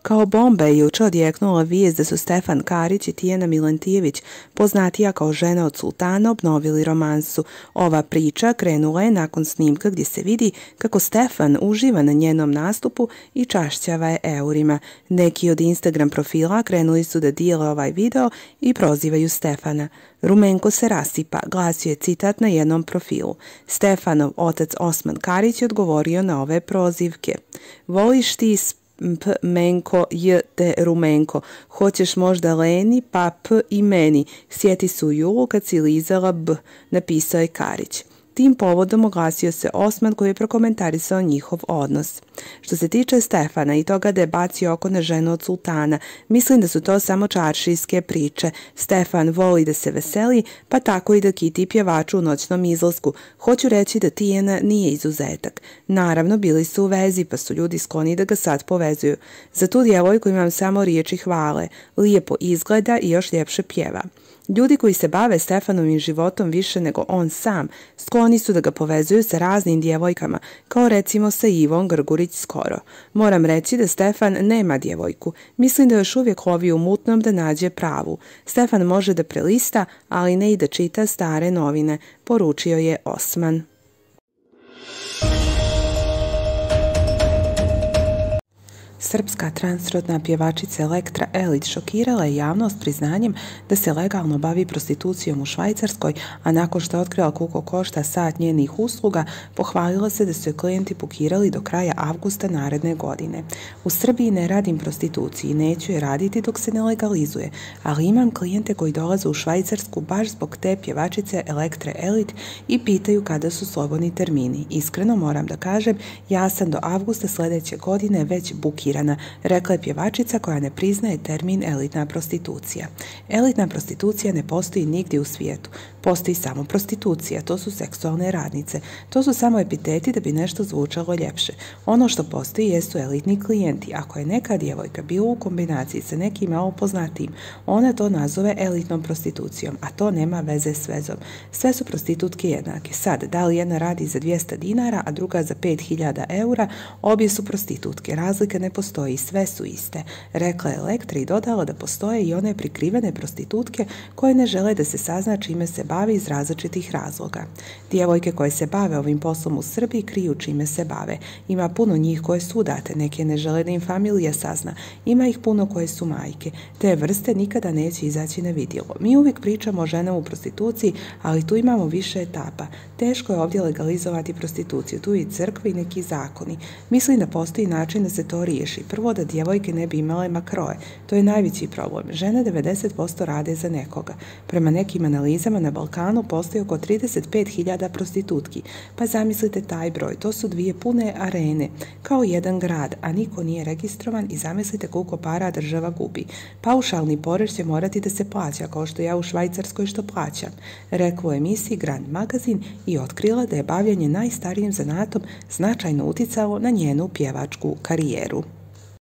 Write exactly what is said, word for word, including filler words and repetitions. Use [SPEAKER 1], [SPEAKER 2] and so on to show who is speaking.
[SPEAKER 1] Kao bomba je juče odjeknula vijest da su Stefan Karić i Tijana Milentijević, poznatija kao žena od sultana, obnovili romansu. Ova priča krenula je nakon snimka gdje se vidi kako Stefan uživa na njenom nastupu i čašćava je eurima. Neki od Instagram profila krenuli su da dijele ovaj video i prozivaju Stefana. Rumenko se rasipa, glasio je citat na jednom profilu. Stefanov otac Osman Karić je odgovorio na ove prozivke. Voliš ti P, menko, j, te rumenko. Hoćeš možda Leni, pa p i meni. Sjeti se u julu kad si lizala b, napisao je Karić. Tim povodom oglasio se Osman koji je prokomentarisao njihov odnos. Što se tiče Stefana i toga da je bacio oko na ženu od sultana, mislim da su to samo čaršijske priče. Stefan voli da se veseli, pa tako i da kiti pjevaču u noćnom izlasku. Hoću reći da Tijana nije izuzetak. Naravno, bili su u vezi, pa su ljudi skloni da ga sad povezuju. Za tu djevojku imam samo riječi hvale. Lijepo izgleda i još ljepše pjeva. Ljudi koji se bave Stefanovim životom više nego on sam, skloni su da ga povezuju sa raznim djevojkama, kao recimo sa Ivom Grgurić skoro. Moram reći da Stefan nema djevojku. Mislim da još uvijek lovi u mutnom da nađe pravu. Stefan može da prelista, ali ne i da čita stare novine, poručio je Osman. Srpska transrodna pjevačica Elektra Elić šokirala je javnost priznanjem da se legalno bavi prostitucijom u Švajcarskoj, a nakon što je otkrila koliko košta sat njenih usluga, pohvalila se da su je klijenti bukirali do kraja avgusta naredne godine. U Srbiji ne radim prostituciji, neću je raditi dok se ne legalizuje, ali imam klijente koji dolaze u Švajcarsku baš zbog te pjevačice Elektre Elić i pitaju kada su slobodni termini. Iskreno moram da kažem, ja sam do avgusta sljedeće godine već bukirana, rekla je pjevačica koja ne priznaje termin elitna prostitucija. Elitna prostitucija ne postoji nigdje u svijetu. Postoji samo prostitucija, to su seksualne radnice. To su samo epiteti da bi nešto zvučalo ljepše. Ono što postoji jesu elitni klijenti. Ako je neka djevojka bila u kombinaciji sa nekim malo poznatijim, ona to nazove elitnom prostitucijom, a to nema veze s vezom. Sve su prostitutke jednake. Sad, da li jedna radi za dvjesto dinara, a druga za pet hiljada eura, obje su prostitutke. Razlika ne postoji, sve su iste, rekla je Elektra i dodala da postoje i one prikrivene prostitutke koje ne žele da se sazna čime se bavi iz različitih razloga. Djevojke koje se bave ovim poslom u Srbiji kriju čime se bave. Ima puno njih koje su udate, neke ne žele da im familija sazna. Ima ih puno koje su majke. Te vrste nikada neće izaći na vidjelo. Mi uvijek pričamo o ženama u prostituciji, ali tu imamo više etapa. Teško je ovdje legalizovati prostituciju, tu i crkve i neki zakoni. Mislim da postoji način da se to riješi. Prvo da djevojke ne bi imale makroje. To je najveći problem. Žene devedeset posto rade za nekoga. Prema nekim analizama na Balkanu postoji oko trideset pet hiljada prostitutki. Pa zamislite taj broj. To su dvije pune arene. Kao jedan grad, a niko nije registrovan i zamislite koliko para država gubi. Paušalni porez će morati da se plaća, kao što ja u Švajcarskoj što plaćam. Rekla u emisiji Grand Magazin i otkrila da je bavljanje najstarijim zanatom značajno uticalo na njenu pjevačku karijeru.